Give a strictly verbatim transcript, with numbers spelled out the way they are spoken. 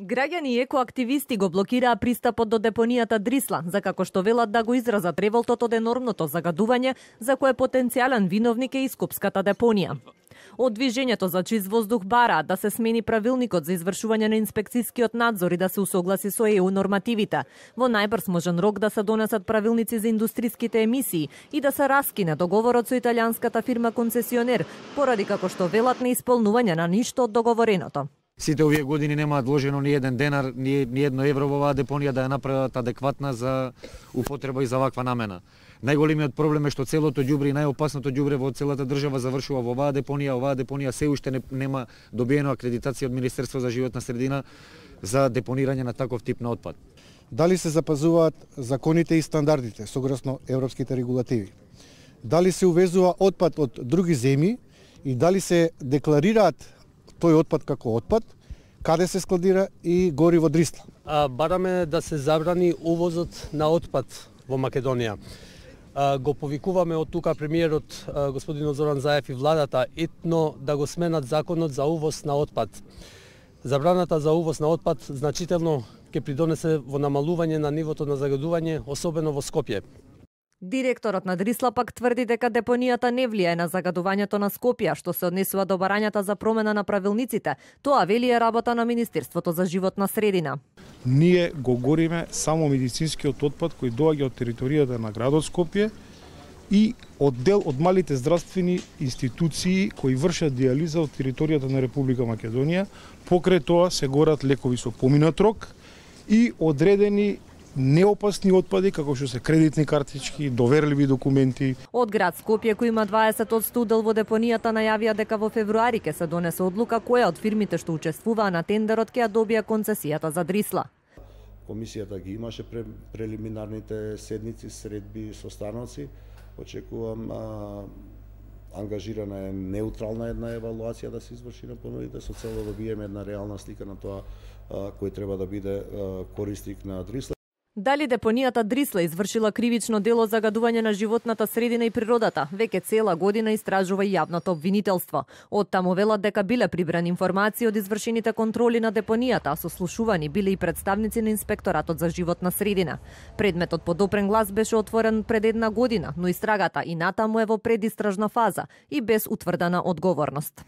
Граѓани и екоактивисти го блокираа пристапот до депонијата Дрисла, за како што велат да го изразат револтот од енормното загадување за кое потенцијален виновник е и Скопската депонија. Од движењето за чист воздух бараат да се смени правилникот за извршување на инспекцискиот надзор и да се усогласи со Е У нормативите. Во најбрз можен рок да се донесат правилници за индустриските емисии и да се раскине договорот со италијанската фирма концесионер, поради како што велат не исполнување на ништо од договореното. Сите овие години немаат вложено ни еден денар, ни, ни едно евро во оваа депонија да ја направат адекватна за употреба и за ваква намена. Најголемиот проблем е што целото ѓубре и најопасното ѓубре во целата држава завршува во оваа депонија. Оваа депонија се уште не, нема добиено акредитација од Министерство за животна средина за депонирање на таков тип на отпад. Дали се запазуваат законите и стандардите согласно европските регулативи? Дали се увезува отпад од други земји и дали се декларираат тој отпад како отпад, каде се складира и гори во Дрисла? А, бараме да се забрани увозот на отпад во Македонија. А, го повикуваме од тука премиерот а, господин Зоран Заев и владата етно да го сменат законот за увоз на отпад. Забраната за увоз на отпад значително ќе придонесе во намалување на нивото на загадување, особено во Скопје. Директорот на Дрисла пак тврди дека депонијата не влијае на загадувањето на Скопје, што се однесува до барањата за промена на правилниците. Тоа вели е работа на Министерството за животна средина. Ние го гориме само медицинскиот отпад кој доаѓа од територијата на градот Скопје и од дел од малите здравствени институции кои вршат диализа од територијата на Република Македонија. Покрај тоа се горат лекови со поминат рок и одредени неопасни отпади, како што се кредитни картички, доверливи документи. Од град Скопје, кој има дваесет одсто удел во депонијата, најавија дека во февруари ќе се донесе одлука која од фирмите што учествуваа на тендерот ќе ја добија концесијата за Дрисла. Комисијата ги имаше прелиминарните седници, средби со становци. Очекувам а, ангажирана е неутрална една евалуација да се изврши на понудите со цел да добиеме една реална слика на тоа а, кој треба да биде а, корисник на Дрисла. Дали депонијата Дрисла извршила кривично дело загадување на животната средина и природата, веќе цела година истражува и јавното обвинителство. Од таму велат дека биле прибрани информации од извршените контроли на депонијата, а сослушувани биле и представници на Инспекторатот за животна средина. Предметот под опрен глас беше отворен пред една година, но истрагата и натаму е во предистражна фаза и без утврдена одговорност.